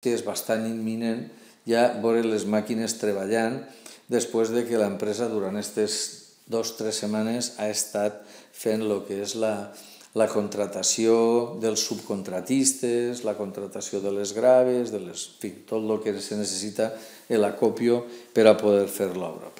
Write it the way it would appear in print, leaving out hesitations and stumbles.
que és bastant imminent ja veure les màquines treballant després de que l'empresa durant aquestes 2 o 3 setmanes ha estat fent el que és la contratació dels subcontratistes, la contratació de les graves, en fi, tot el que se necessita, l'acopio per a poder fer l'obra.